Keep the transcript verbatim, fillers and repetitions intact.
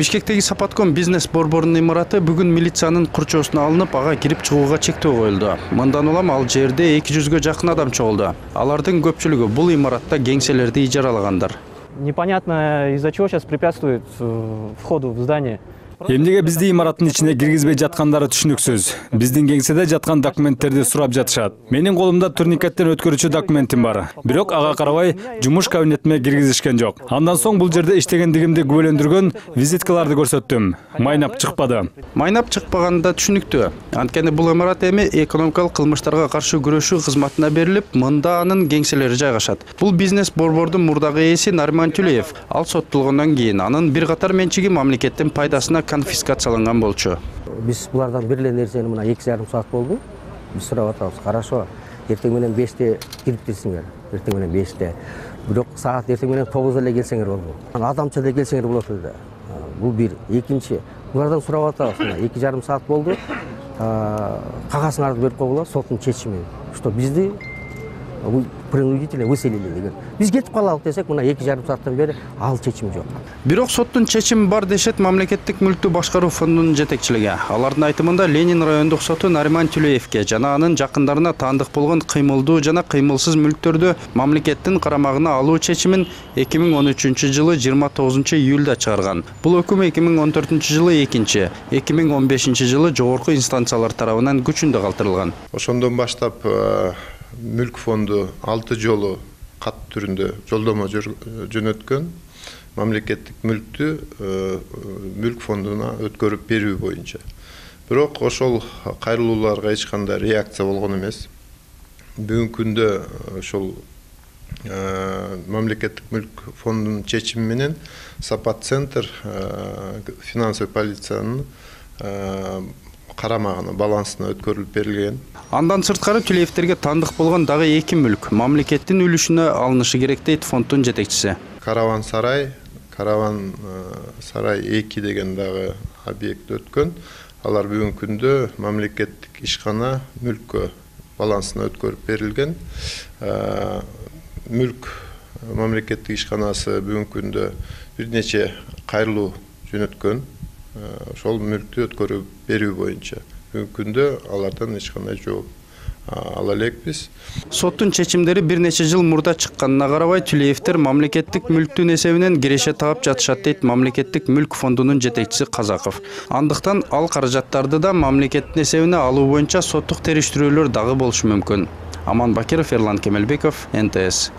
Бишкектеги Сапатком бизнес борборунун имараты бүгүн милициянын курчоосуна алынып, ага кирип чыгууга чектөө коюлду. Мындан улам ал жерде эки жүзгө жакын адам чогулду. Алардын көпчүлүгү бул имаратта кеңселерди ижаралагандар. Непонятно, из-за чего сейчас препятствует входу в здание. Эмнеге бизди имараттын ичине киргизбей жаткандары түшүнүксүз. Биздин кеңседе жаткан документтерди сурап жатышат. Менин колумда турникеттен өткөрүүчү документим бар. Бирок ага карабай жумуш кабинетиме киргизишкен жок. Андан соң бул жерде иштегендигимди күбөлөндүргөн визиткаларды көрсөттүм. Майнап чыкпады. Майнап чыкпаганы да түшүнүктүү. Анткени бул имарат эми экономикалык кылмыштарга каршы күрөшүү кызматына берилип, мында анын кеңселери жайгашат. Бул бизнес борбордун мурдагы ээси Нариман Тюлеев. Ал соттолгондон кийин анын бир катар менчиги мамлекеттин пайдасына конфискацияланган болчу. Биз булардан берилген нерсени мына эки жарым саат болду. Биз сурап атабыз. Хорошо. Эртең менен беште кирип келсиңер. Эртең менен беште. Бирок саат эртең менен тогузда эле келсеңер болду. Адамча да келсеңер болот эле. Бул бир. Экинчи, булардан сурап атабыз. Мына эки жарым саат болду. Кагазыңарды берип койгула, соттун чечими. Что бизди принудительно выселили деген. Биз кетип калалык десек, мына эки жарым сааттан бери ал чечим жок. Бирок соттун чечими бар дешет мамлекеттик мүлктү башкаруу фондунун жетекчилиги. Алардын айтымында Ленин райондук соту Нариман Тюлеевке жана анын жакындарына таандык болгон кыймылдуу жана кыймылсыз мүлктөрдү мамлекеттин карамагына алуу чечимин эки миң он үчүнчү жылы жыйырма тогузунчу июлда чыгарган. Бул өкүм эки миң он төртүнчү жылы экинчи, эки миң он бешинчи жылы жогорку инстанциялар тарабынан күчүндө калтырылган. Ошондон баштап мүлк фонду алты жолу кат түрүндө жолдомо жөнөткөн мамлекеттик мүлктү мүлк фондуна өткөрүп берүү боюнча. Бирок ошол кайрылууларга эч кандай реакция болгон эмес. Бүгүнкү күндө ошол мамлекеттик мүлк фондунун чечими менен Сапат центр финансовый полициянын карамагына, балансына өткөрүлүп берилген. Андан сырткары Тюлеевтерге таандык болгон дагы эки мүлк мамлекеттин үлүшүнө алынышы керек дейт фонддун жетекчиси. Караван сарай, Караван сарай эки деген дагы объект өткөн. Алар бүгүнкү күндө мамлекеттик ишкана мүлккө балансына өткөрүп берилген. Мүлк мамлекеттик ишканасы бүгүнкү күндө бир нече кайрылуу жөнөткөн. Ошол мүлктү өткөрүп берүү боюнча бүгүнкү күндө алардан эч кандай жооп ала элекпиз. Соттун чечимдери бир нече жыл мурда чыкканына карабай Тюлеевтер мамлекеттик мүлктүн эсебинен киреше таап жатышат дейт мамлекеттик мүлк фондунун жетекчиси Казаков. Андыктан ал каражаттарды да мамлекеттин эсебине алуу боюнча соттук териштирүүлөр дагы болушу мүмкүн. Аман Бакиров, Эрлан Кемелбеков, Н Т С.